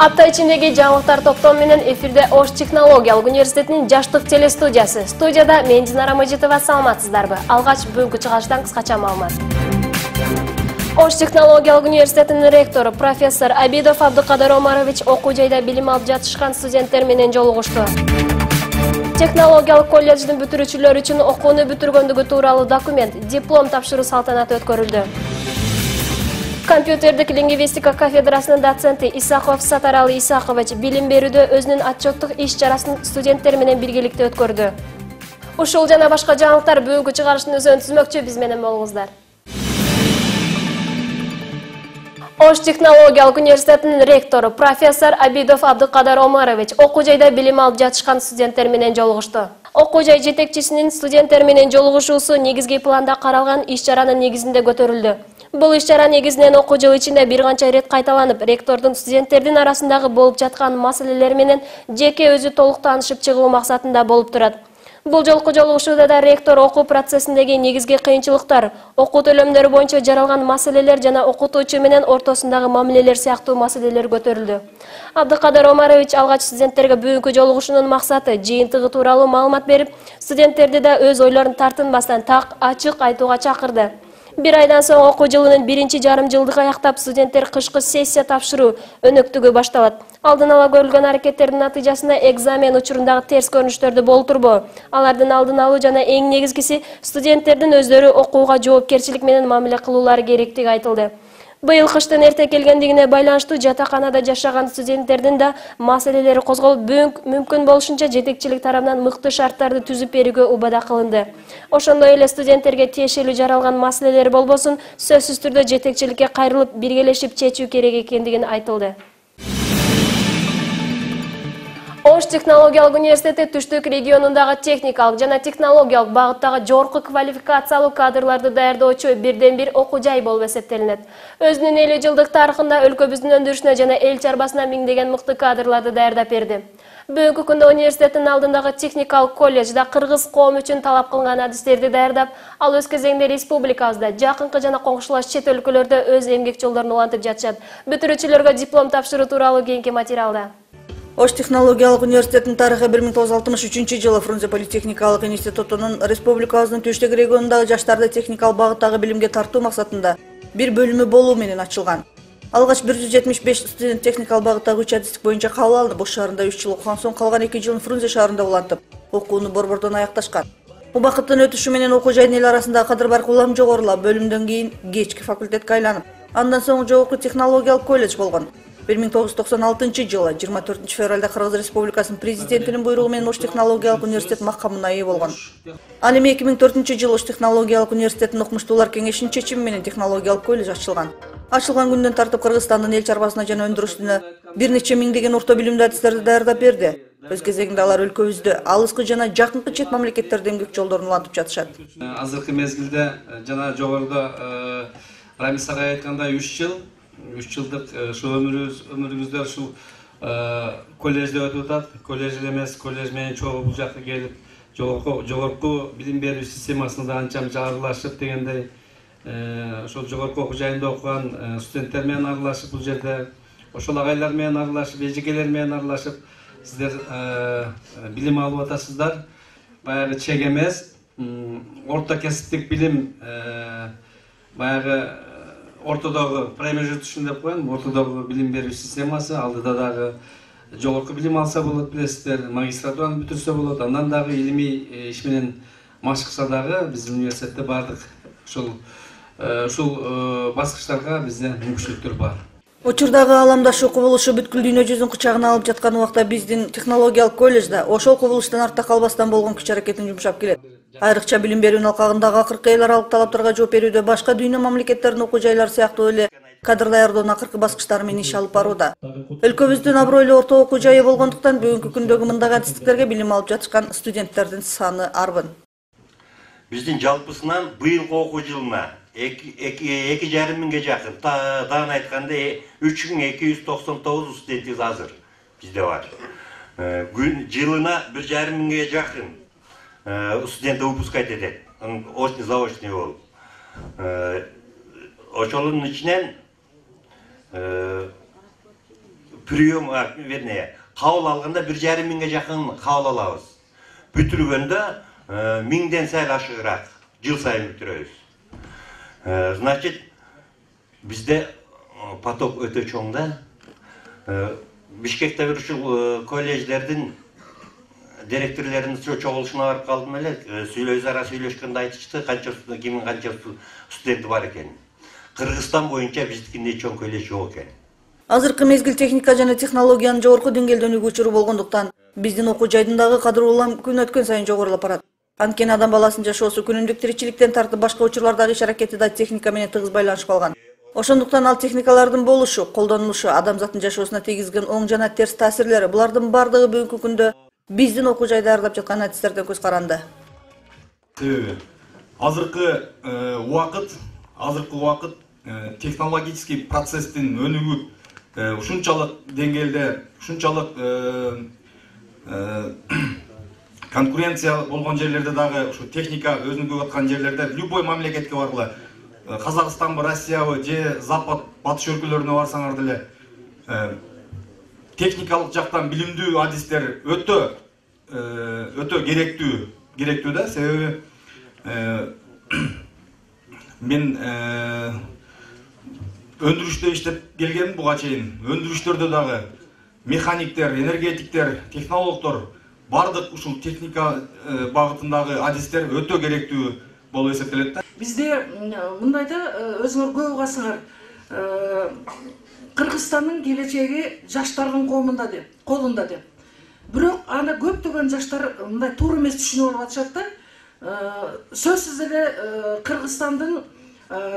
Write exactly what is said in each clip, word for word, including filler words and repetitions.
Апта ичиндеги жаңылыктар топтому менен эфирде Ош технологиялык университетинин жаштык телестудиясы. Студияда мен Динара Мажитова, саламатсыздарбы? Алгач бүгүнкү чыгарыштан кыскача маалымат. Ош технологиялык университетинин ректору профессор Абидов Абдыкадыр Омарович окуу жайда билим алып жатышкан студенттер менен жолугушту. Технологиялык колледждин бүтүрүүчүлөр үчүн окууну бүтүргөндүгү тууралуу документ, диплом тапшыруу салтанаты өткөрүлдү. Компьютердик лингвистика кафедрасынын доценти Исаков Сатаралы Исакович билим берүүдө өзүнүн отчеттук иш-чарасын студенттер менен биргеликте өткөрдү. Ушул жана башка жаңылыктар бүгүнкү чыгарыштын өзүн түзмөкчү, биз менен болуңуздар. Ош технологиялык университетинин ректору профессор Абидов Абдыкадыр Омарович окуу жайда билим алып жатышкан студенттер менен жолугушту. Окуу жай жетекчисинин студенттер менен жолугушуусу негизги планда каралган иш-чаранын негизинде көтөрүлдү. Бул иш-чара негизинен окуу жылы ичинде бир канча ирет кайталанып, ректордун студенттердин арасындагы болуп жаткан маселелер менен жеке өзү толук таанышып чыгуу максатында болуп турат. Бул жолку жолугушууда да ректор окуу процессиндеги негизги кыйынчылыктар, окуу төлөмдөрү боюнча жаралган маселелер жана окутуучу менен ортосундагы мамилелер сыяктуу маселелер көтөрүлдү. Абдыкадыр Омарович алгач студенттерге бүгүнкү жолугушуунун максаты жыйынтыгы тууралуу маалымат берип, студенттерди да өз ойлорун тартынбастан так ачык айтууга чакырды. Бир айдан соң окуу жылынын биринчи жарым жылдыгы аяктап, студенттер кышкы сессия тапшыруу өнөктүгү башталат. Алдын ала көрүлгөн аракеттердин натыйжасында экзамен учурундагы терс көрүнүштөрдү болтурбоо, алардын алдын алуу жана эң негизгиси студенттердин өздөрү окууга жоопкерчилик менен мамиле кылуулары керектиги айтылды. Быйыл кыштын эрте келгендигине байланыштуу жатаканада жашаган студенттердин да маселелери козголуп, мүмкүн болушунча жетекчилик тарабынан мыкты шарттарды түзүп берүүгө убада кылынды. Ошондой эле студенттерге тиешелүү жаралган маселелер болбосун, сөзсүз түрдө жетекчиликке кайрылып, биргелешип чечүү керек экендигин айтылды. Ош технологиялык университети Түштүк регионундагы техникалык жана технологиялык багыттагы жогорку квалификациялуу кадрларды даярдоочу бирден бир окуу жай болуп эсептелинет. Өзүнүн элүү жылдык тарыхында өлкөбүздүн өндүрүшүнө жана эл чарбасына миңдеген мыкты кадрларды даярдап берди. Бүгүнкү күндө университеттин алдындагы техникалык колледжда кыргыз коому үчүн талап кылынган адистерди даярдап, ал өз кезегинде республикабызда, жакынкы жана коңшулаш чет өлкөлөрдө өз эмгек жолдорун улантып жатышат. Бүтүрүүчүлөргө диплом тапшыруу тууралуу кийинки материалда. Ош технологиялык университетинин тарыхы бир миң тогуз жүз алтымыш үчүнчү жылы Фрунзе политехникалык институтунун республикабыздын Түштүк регионундагы жаштарды техникалык багыттагы билимге тартуу максатында бир бөлүмү болуу менен ачылган. Алгач бир жүз жетимиш беш студент техникалык багыттагы үч адистик боюнча кабыл алынып, Ош шаарында үч жыл окуган соң калган эки жылын Фрунзе шаарында улантып, окууну борбордон аякташкан. Убакыттын өтүшү менен окуу жайдын эл арасындагы кадыр баркы улам жогорулап, бөлүмдөн кийин кечки факультетке айланып, андан соң жогорку технологиялык колледж болгон. бир миң тогуз жүз токсон алтынчы жылы жыйырма төртүнчү февралда Кыргыз Республикасынын президентинин буйругу менен Ош технологиялык университет макамына ээ болгон. Ал эми эки миң төртүнчү жылы Ош технологиялык университетинин окумуштуулар кеңешинин чечими менен технологиялык колледж ачылган. Ачылган күндөн тартып Кыргызстандын эл чарбасына жана өндүрүшүнө бир нече миңдеген орто билимдүү адистерди даярдап берди. Өз кезегинде алар өлкөбүздө алыскы жана жакынкы чет мамлекеттерде эмгек жолдорун улантып жатышат. Азыркы мезгилде жана жогоруда Рамис агай айткандай үч жыл үч жылдык ушу өмүрүбүз өмүрүбүздө ушул колледжде өтүп атат. Колледж эмес, колледж менен чогуу бул жакка келип, жогорку жогорку билим берүү системасына да анчам аралашып дегендей, ошол жогорку окуу жайында окуган студенттер менен аралашып, бул жерде ошол агайлар менен аралашып, эжекелер менен аралашып, сиздер билим алып атасыздар. Баягы чек эмес, орто кесиптик билим, баягы ортодогу промежуточный деп коем, ортодогу билим берүү системасы, алдыда дагы жогорку билим алса болот, билесиздер, магистратураны бүтүрсө болот, андан дагы илимий иш менен машыкса дагы биздин университетте бардык ушул ушул баскычтарга бизде мүмкүнчүлүктөр бар. Учурдагы ааламдашуу кубулушу бүткүл дүйнө жүзүн кычагына алып жаткан убакта биздин технологиялык колледжде ошол кубулуштан артта калбастан болгон күч аракетин жумшап келет. Айрыкча билим берүүнүн алкагындагы акыркы эл аралык талаптарга жооп берүүдө башка дүйнө мамлекеттеринин окуу жайлары сыяктуу эле кадр даярдоонун акыркы баскычтары менен иш алып барууда. Өлкөбүздүн абройлуу орто окуу жайы болгондуктан бүгүнкү күндөгү мындай адистиктерге билим алып жатышкан студенттердин саны арбын. Биздин жалпысынан быйылкы окуу жылына эки жарым миңге жакын, таан айтканда үч миң эки жүз токсон тогуз студентибиз азыр бизде бар. Жылына бир жарым миңге жакын студент выпускать этет, очный заочный болуп. Ошолордун ичинен прием, вернее, кабыл алганда бир жарым миңге жакын кабыл алабыз. Бүтүргөндө миңден сайын ашыгыраак жыл сайын бүтүрөбүз. Значит, бизде поток өтө чоң да. Бишкекте бир ушул колледждердин директорлорунун чогулушуна барып калдым эле. Сүйлөз ара сүйлөшкөндө айтышты, канча кимдин канча студенти бар экен. Кыргызстан боюнча биздикиндей чоң колледж жок экен. Азыркы мезгил техника жана технологиянын жогорку деңгээлде өнүгүү учуру болгондуктан биздин окуу жайдындагы кадыр улам күн өткөн сайын жогорулап барат. Анткени адам баласынын жашоосу күнүмдүк тиричиликтен тартып башка учурлардагы иш аракети да техника менен тыгыз байланышып калган. Ошондуктан ал техникалардын болушу, колдонулушу, адамзаттын жашоосуна тийгизген оң жана терс таасирлери булардын бардыгы бүгүнкү күндө биздин окуу жайда даярдап жаткан адистерден көз каранды. Себеби азыркы убакыт, азыркы убакыт технологический процесстин өнүгүп ушунчалык деңгээлде, ушунчалык конкуренция болгон жерлерде дагы ушу техника өзүнүгүп аткан жерлерде любой мамлекетке баргыла, Казакстанбы, Россиябы же Запад, батыш өлкөлөрүнө барсаңар деле техникалык жактан билимдүү адистер өтө өтө керектүү, керектүү да. Себеби мен өндүрүштө иштеп келгенмин буга чейин. Өндүрүштөрдө дагы механиктер, энергетиктер, технологдор, бардык ушул техника багытындагы адистер өтө керектүү болуп эсептелет да. Бизде мындайда өзүңөр көп угасыңар, Кыргызстандын келечеги жаштардын колунда деп, колунда деп. Бирок аны көптөгөн жаштар мындай туура эмес түшүнүп алып атышат да. Сөзсүз эле Кыргызстандын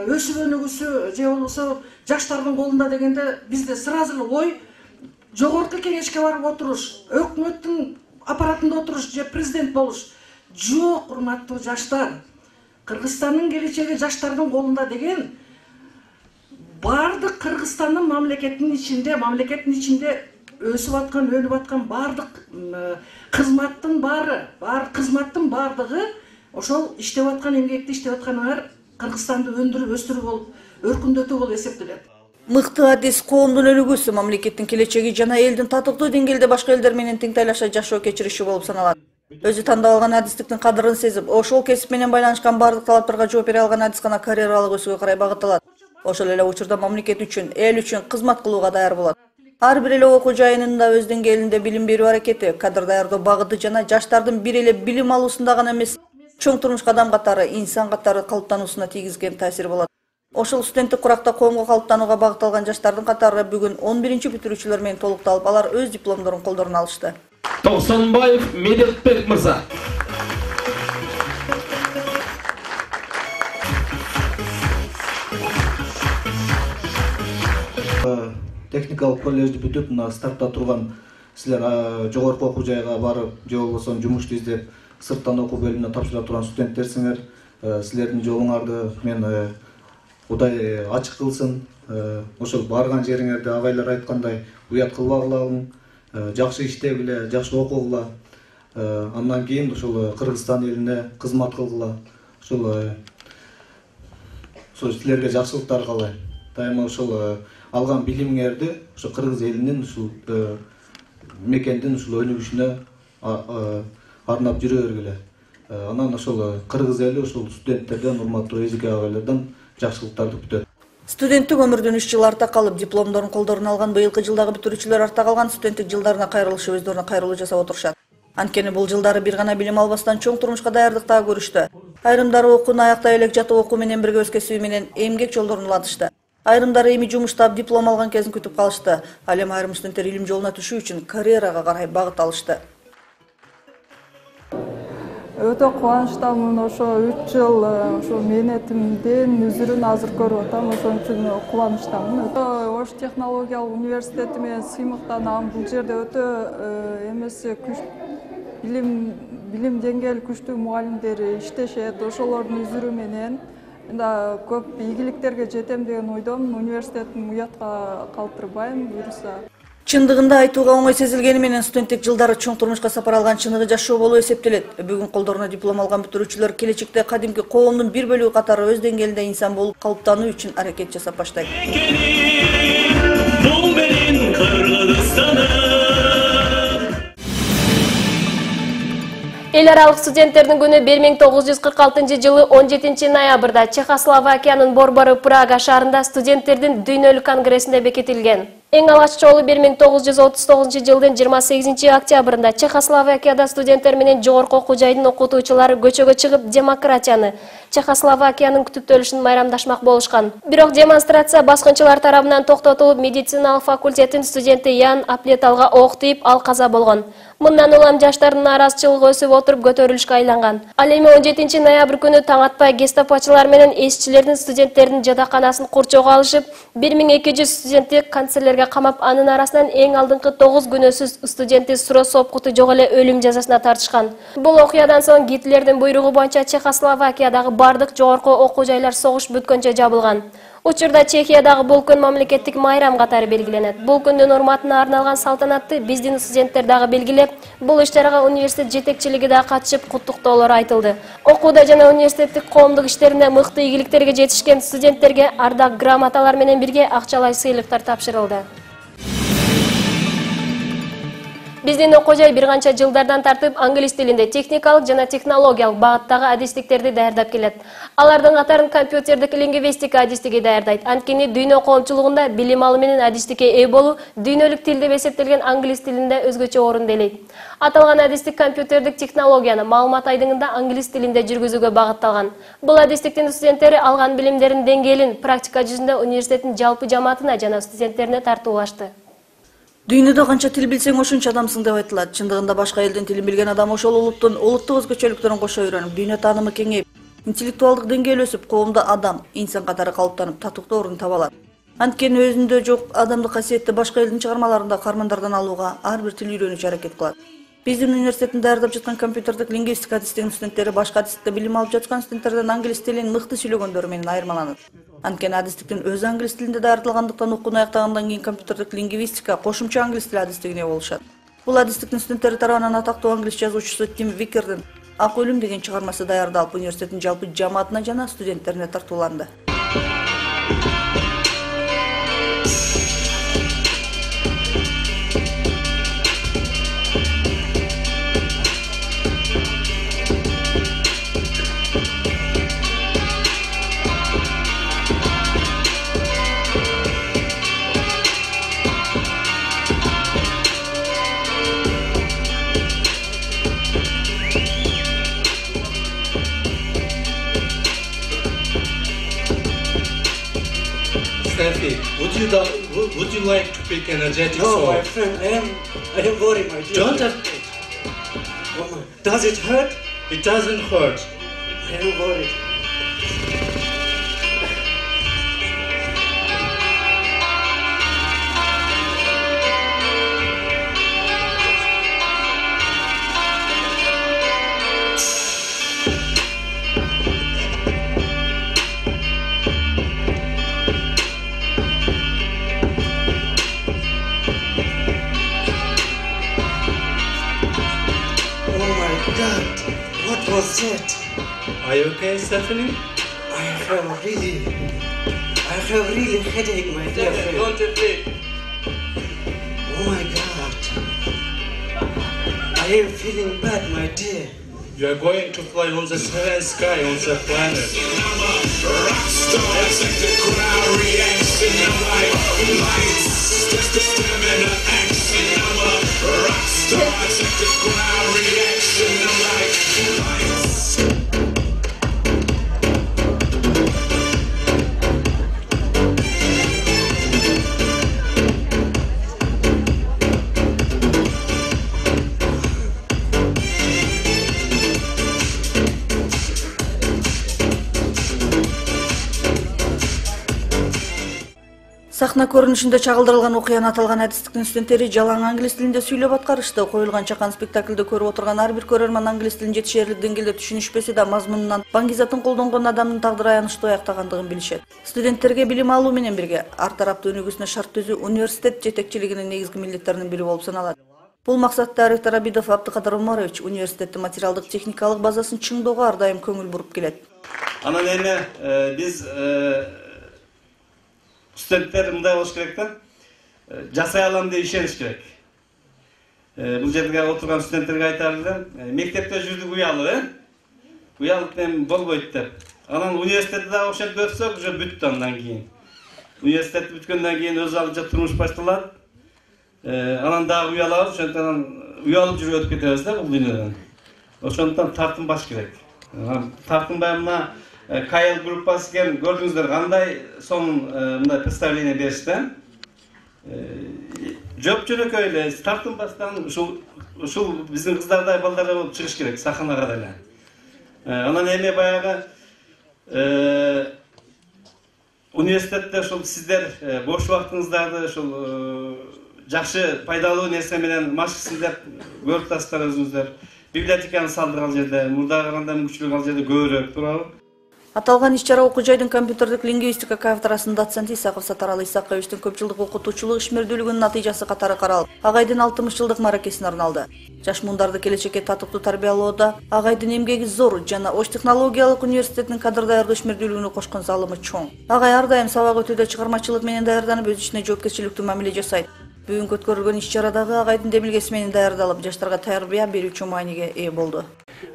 өсүп өнүгүүсү же болбосо жаштардын колунда дегенде бизде сразу эле ой жогорку кеңешке барып отуруш, өкмөттүн аппаратында отуруш же президент болуш. Жок, урматтуу жаштар. Кыргызстандын келечеги жаштардын колунда деген бардык Кыргызстандын мамлекеттин ичинде, мамлекеттин ичинде өсүп аткан, өнүп аткан бардык кызматтын баары, бар кызматтын бардыгы ошол иштеп аткан, эмгекти иштеп атканыңар Кыргызстанды өндүрүп, өстүрүп болуп, өркүндөтүү болуп эсептелет. Мыкты адис коомдун өнүгүүсү, мамлекеттин келечеги жана элдин татыктуу деңгээлде башка элдер менен тең тайлаша жашоо кечириши болуп саналат. Өзү тандап алган адистиктин кадырын сезип, ошол кесип менен байланышкан бардык талаптарга жооп бере алган адис гана карьералык өсүүгө карай багытталат. Ошол эле учурда мамлекет үчүн, эл үчүн кызмат кылууга даяр болот. Ар бир эле окуу жайынында өз деңгээлинде билим берүү аракети, кадыр даярдоо багыты жана жаштардын бир эле билим алуусунда гана эмес, чоң турмуш кадам катары, инсан катары калыптануусуна тийгизген таасир болот. Ошол студенттик куракта коомго калыптанууга багытталган жаштардын катары бүгүн он биринчи бүтүрүүчүлөр менен толукталып, алар өз дипломдорун колдоруна алышты. Токсонбаев Медетбек мырза. Техникалык колледжди бүтүп, мына стартта турган силер жогорку окуу жайга барып, же болбосо жумушту издеп, сырттан окуу бөлүмүнө тапшыра турган студенттерсиңер. Силердин жолуңарды мен Кудай ачык кылсын. Ошол барган жериңерде агайлар айткандай уят кылбагыла, жакшы иштегиле, жакшы окугула. Андан кийин ошол Кыргызстан элине кызмат кылгыла. Ошол ошол силерге жакшылыктар каалайм. Дайыма ошол алган билимиңерди ошо кыргыз элинин ушул мекендин ушул өнүгүшүнө арнап жүрө бергиле. Анан ошол кыргыз эли ошол студенттерден, урматтуу эжеке агайлардан жакшылыктарды күтөт. Студенттик өмүрдөн үч жыл арта калып, дипломдорун колдоруна алган быйылкы жылдагы бүтүрүүчүлөр арта калган студенттик жылдарына кайрылышып, өздөрүнө кайрылуу жасап отурушат. Анткени бул жылдары бир гана билим албастан чоң турмушка даярдыктаа көрүштү. Айрымдары окууну аяктай элек жатып окуу менен бирге өз кесиби менен эмгек жолдорун улантышты. Айрымдары эми жумуштап диплом алган кезин күтүп калышты. Ал эми айрым студенттер илим жолуна түшүү үчүн карьерага карай багыт алышты. Өтө кубанычтамын, ошо үч жыл ошо мээнетимдин үзүрүн азыр көрүп атам, ошон үчүн кубанычтамын. Ош технологиялык университети менен сыймыктанам. Бул жерде өтө эмеси күч билим билим деңгээли күчтүү мугалимдер иштешет. Ошолордун үзүрү менен да көп ийгиликтерге жетем деген ойдомун. Университетин уятка калтырбайм, буюрса. Чындыгында айтууга оңой сезилгени менен студенттик жылдары чоң турмушка сапар алган чыныгы жашоо болуп эсептелет. Бүгүн колдоруна диплом алган бүтүрүүчүлөр келечекте кадимки коомдун бир бөлүгү катары өз деңгээлинде инсан болуп калыптануу үчүн аракет жасап баштайт. Эл аралык студенттердин күнү бир миң тогуз жүз кырк алтынчы жылы он жетинчи ноябрда Чехословакиянын Борбору Прага шаарында студенттердин дүйнөлүк конгрессинде бекитилген. Эң алгач жолу бир миң тогуз жүз отуз тогузунчу жылдын жыйырма сегизинчи октябрында Чехословакияда студенттер менен жогорку окуу жайдын окутуучулары көчөгө чыгып демократияны, Чехословакиянын күтүптөлүшүн майрамдашмак болушкан. Бирок демонстрация баскынчылар тарабынан токтотулуп, медициналык факультеттин студенти Ян Аплеталга ок тийип, ал каза болгон. Мындан улам жаштардын нааразычылыгы өсүп отуруп көтөрүлүшкө айланган. Ал эми он жетинчи ноябрь күнү таң атпай гестапочулар менен эсчилердин студенттердин жатаканасын курчоого алышып, бир миң эки жүз студентти канцерлерге камап, анын арасынан эң алдыңкы тогуз күнөөсүз студенти Суро Сопкуту жок эле өлүм жазасына тартышкан. Бул окуядан соң Гитлердин буйругу боюнча Чехословакиядагы бардык жогорку окуу жайлар согуш бүткөнчө жабылган. Учурда Чехиядагы бул күн мамлекеттик майрам катары белгиленет. Бул күндүн урматына арналган салтанатты биздин студенттер дагы белгилеп, бул иш-чарага университет жетекчилиги да катышып, куттуктоолор айтылды. Окууда жана университеттик коомдук иштеринде мыкты ийгиликтерге жетишкен студенттерге ардак грамоталар менен бирге акчалай сыйлыктар тапшырылды. Биздин окуу жай бир канча жылдардан тартып англис тилинде техникалык жана технологиялык багыттагы адистиктерди даярдап келет. Алардын катарын компьютердик лингвистика адистиги даярдайт. Анткени дүйнө коомчулугунда билим алуу менен адистикке ээ болуу дүйнөлүк тил деп эсептелген англис тилинде өзгөчө орун ээлейт. Аталган адистик компьютердик технологияны маалымат айдыңында англис тилинде жүргүзүүгө багытталган. Бул адистиктин студенттери алган билимдерин деңгээлин практика жүзүндө университеттин жалпы жамаатына жана студенттерине тартуулашты. Дүйнөдө канча тил билсең ошончо адамсың деп айтылат. Чындыгында башка элдин тилин билген адам ошол улуттун улуттук өзгөчөлүктөрүн кошо үйрөнүп, дүйнө таанымы кеңейип, интеллектуалдык деңгээли өсүп, коомдо адам, инсан катары калыптанып, татыктуу орун таба алат. Анткени өзүндө жок адамдык касиетти башка элдин чыгармаларында кармандардан алууга ар бир тил үйрөнүүчү аракет кылат. Биздин университеттин даярдап жаткан компьютердик лингвистика адистигинин студенттери башка адистикте билим алып жаткан студенттерден англис тилин мыкты сүйлөгөндөрү менен айырмаланат. Анткени адистиктин өзү англис тилинде даярдалгандыктан окууну аяктагандан кийин компьютердик лингвистика кошумча англис тили адистигине болушат. Бул адистиктин студенттери тарабынан атактуу англис жазуучусу Тим Викердин «Ак өлүм» деген чыгармасы даярдалып, университеттин жалпы жамаатына жана студенттерине тартууланды. Steffi, would you do, would you like to pick energetic no, song? No, my friend, I am I am worried, my dear. Don't have... Oh my. Does it hurt? It doesn't hurt. I am worried. What was that? Are you okay, Stephanie? I have really, I have really headache, my dear friend. Don't be afraid. Oh my God. I am feeling bad, my dear. You are going to fly on the seventh sky on the planet. Сахна көрүнүшүндө чагылдырылган окуяны аталган адистиктин студенттери жалаң англис тилинде сүйлөп аткарышты. Коюлган чакан спектакльды көрүп отурган ар бир көрөрман англис тилин жетишээрлик деңгээлде түшүнүшпөсө да мазмунунан баңгизатын колдонгон адамдын тагдыры аянычтуу аяктагандыгын билишет. Студенттерге билим алуу менен бирге ар тараптуу өнүгүүсүнө шарт түзүү университет жетекчилигинин негизги милдеттеринин бири болуп саналат. Бул максатта ректор Абидов Абдыкадыр Омарович университеттин материалдык техникалык базасын чыңдоого ар дайым көңүл буруп келет. Анан эми биз студенттер мындай болуш керек да, жасай алам деп ишениш керек. бул жерге отурган студенттерге айтар элем, мектепте жүрдүк уялык, э? Уялык менен болбойт деп. Анан университетте дагы ошентип өтсөк, уже бүттү андан кийин. Университетти бүткөндөн кийин өз алдынча турмуш башталат. Анан дагы уялабыз, ошентип анан уялып жүрүп өтүп кетебиз да бул дүйнөдөн. Ошондуктан тартынбаш керек. Тартынбай мына КАЭЛ группасы экен, көрдүңүздөр кандай сонун мындай представление беришти. Жөп-жөнөкөй эле тартынбастан ушул ушул биздин кыздардай балдардай болуп чыгыш керек сахнага деле. Анан эми баягы университетте ушул сиздер бош убактыңыздарды ушул жакшы пайдалуу нерсе менен машыксын деп көрүп атасыздар өзүңүздөр. Библиотеканы салдык ал жерде, мурдага караганда мүмкүнчүлүк ал жерде көбүрөөк, туурабы? Аталган иш-чара окуу жайдын компьютердик лингвистика кафедрасынын доценти Исаков Сатаралы Исаковичтин көп жылдык окутуучулук ишмердүүлүгүнүн натыйжасы катары каралып, агайдын алтымыш жылдык маракесине арналды. Жаш муундарды келечекке татыктуу тарбиялоодо агайдын эмгеги зор жана Ош технологиялык университетинин кадр даярдоо ишмердүүлүгүнө кошкон залымы чоң. Агай ар дайым сабак өтүүдө чыгармачылык менен даярданып, өз ишине жоопкерчиликтүү мамиле жасайт. Бүгүнкү өткөрүлгөн иш-чарадагы агайдын демилгеси менен даярдалып, жаштарга тарбия берүүчү мааниге ээ болду.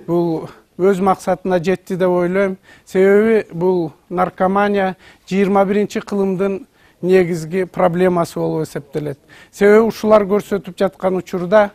Бул өз максатына жетти деп ойлойм. Себеби бул наркомания жыйырма биринчи кылымдын негизги проблемасы болуп эсептелет. Себеби ушулар көрсөтүп жаткан учурда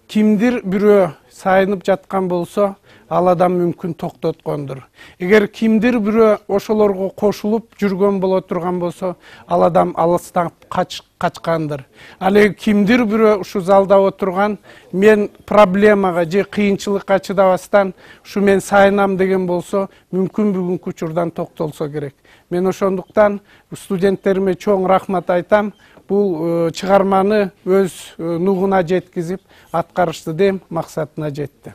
кимдир бирөө сайынып жаткан болсо, ал адам мүмкүн токтоткондур. Эгер кимдир бирөө ошолорго кошулуп жүргөн боло турган болсо, ал адам алыстан качкандыр. Ал эми кимдир бирөө ушу залда отурган, мен проблемага же кыйынчылыкка чыдабастан ушу мен сайынам деген болсо, мүмкүн бүгүнкү учурдан токтолсо керек. Мен ошондуктан студенттериме чоң рахмат айтам. Бул чыгарманы өз нугуна жеткизип, аткарышты дем максатына жетти.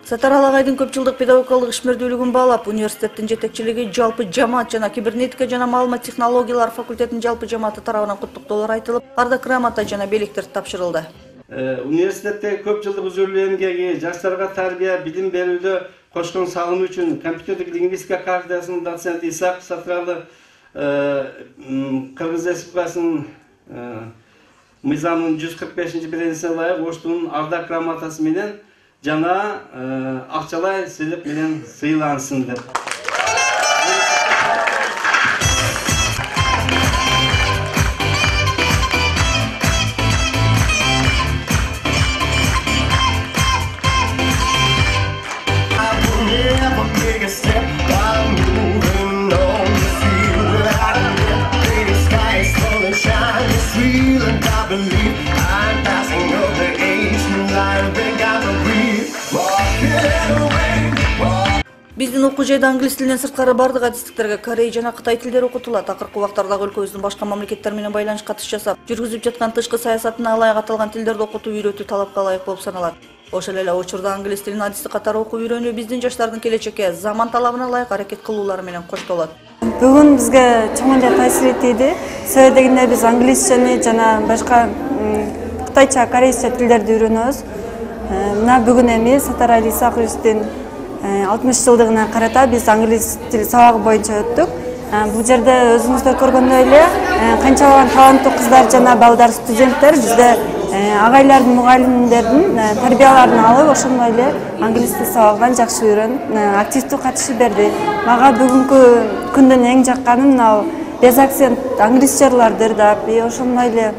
Сатаралы агайдын көп жылдык педагогикалык ишмердүүлүгүн баалап, университеттин жетекчилиги жалпы жамаат жана кибернетика жана маалымат технологиялар факультетинин жалпы жамааты тарабынан куттуктоолор айтылып, ардак грамота жана белектер тапшырылды. Университетте көп жылдык үзүлүү эмгеги, жаштарга тарбия, билим берүүдө кошкон салымы үчүн компьютердик лингвистика кафедрасынын доценти Исаков Сатаралы Кыргыз Республикасынын мыйзамынын жүз кырк бешинчи беренесине ылайык Оштун ардак грамотасы менен жана акчалай сыйлык менен сыйлансын деп. Биздин окуу жайда англис тилинен сырткары бардык адистиктерге корей жана кытай тилдери окутулат. Акыркы убактардагы өлкөбүздүн башка мамлекеттер менен байланыш катыш жасап, жүргүзүп жаткан тышкы саясатына ылайык аталган тилдерди окутуу үйрөтүү талапка ылайык болуп саналат. Ошол эле учурда англис тилин адистик катары окуу үйрөнүү биздин жаштардын келечекке заман талабына ылайык аракет кылуулары менен коштолот. Бүгүн бизге чоң эле таасир этти. Себеби дегенде биз англисчени жана башка кытайча, корейче тилдерди үйрөнөбүз. Мына бүгүн эми Сатаралы Исаковичтин алтымыш жылдыгына карата биз англис тил сабагы боюнча өттүк. Бул жерде өзүңүздөр көргөндөй эле канчалаган таланттуу кыздар жана балдар, студенттер бизде агайлардын, мугалимдердин тарбияларын алып, ошондой эле англис тил сабагынан жакшы үйрөнүп, активдүү катышып берди. Мага бүгүнкү күндүн эң жакканы мына без акцент англисчерлардыр деп, ошондой эле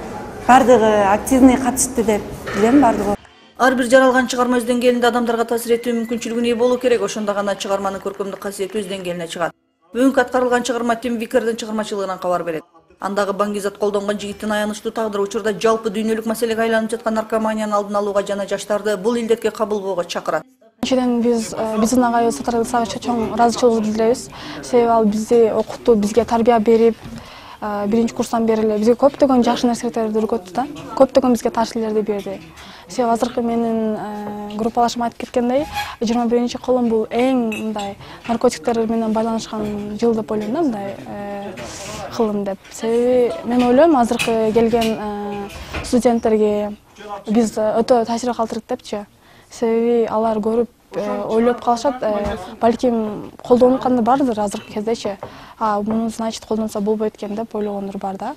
бардыгы активный катышты деп билем бардыгы. Ар бир жаралган чыгарма өз деңгээлинде адамдарга таасир этүү мүмкүнчүлүгүнө ээ болуу керек, ошондо гана чыгарманын көркөмдүк касиети өз деңгээлине чыгат. Бүгүнкү аткарылган чыгарма Тим Викердин чыгармачылыгынан кабар берет. Андагы Баңгизат колдонгон жигиттин аянычтуу тагдыры учурда жалпы дүйнөлүк маселеге айланып жаткан наркоманиянын алдын алууга жана жаштарды бул илдетке кабыл болууга чакырат. Биринчиден биз биздин агай Сатаралы Исаковичке чоң ыраазычылык билдиребиз. Себеби ал бизди окутту, бизге тарбия берип, биринчи курстан бери эле бизге көптөгөн жакшы нерселерди үйрөттү да. Көптөгөн бизге тажрыйбалерди берди. Себеби азыркы менин группалашым айтып кеткендей, жыйырма биринчи кылым бул эң мындай наркотиктер менен байланышкан жыл деп ойлойм да, мындай кылым деп. Себеби мен ойлойм азыркы келген студенттерге биз өтө таасир калтырдык депчи. Себеби алар көрүп ойлоп калышат, балким колдонуп кандай бардыр азыркы кездечи. А муну значит колдонсо болбойт экен деп ойлогондор бар да.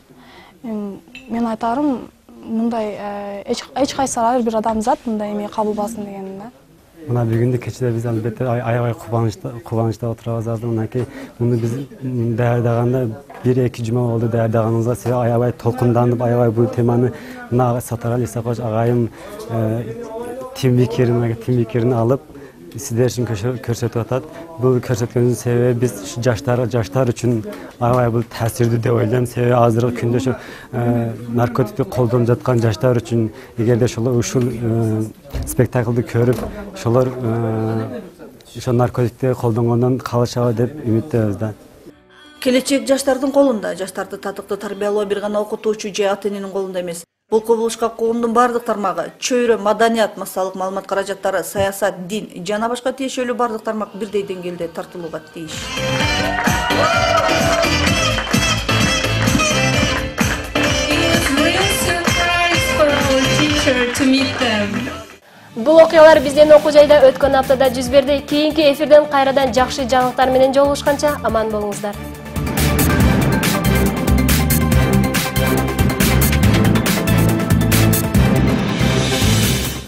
Мен айтарым, мындай эч кайсы ар бир адамзат мындай эме кабыл алсын деген да. Мына бүгүндү кечээ биз албетте аябай кубанычта кубанычта отурабыз азыр. Мынакей муну биз даярдаганда бир эки жума болду даярдаганыбызга. Себеби аябай толкунданып, аябай бул теманы мына Сатарали Исакович агайым тимбикерин, тимбикерин алып сиздер үчүн көрсөтүп атат. Бул көрсөткөнүбүздүн себеби биз жаштар жаштар үчүн аябай бул таасирдүү деп ойлойм. Себеби азыркы күндө ошо наркотикти колдонуп жаткан жаштар үчүн эгерде ошолор ушул спектаклды көрүп, ошолор ошо наркотикти колдонгондон калышабы деп үмүттөбүз да. Келечек жаштардын колунда. Жаштарды татыктуу тарбиялоо бир гана окутуучу же ата эненин колунда эмес. Бул кубулушка коомдун бардык тармагы, чөйрө, маданият, массалык маалымат каражаттары, саясат, дин жана башка тиешелүү бардык тармак бирдей деңгээлде тартылууга тийиш. Бул окуялар биздин окуу жайда өткөн аптада жүз берди. Кийинки эфирден кайрадан жакшы жаңылыктар менен жолугушканча аман болуңуздар.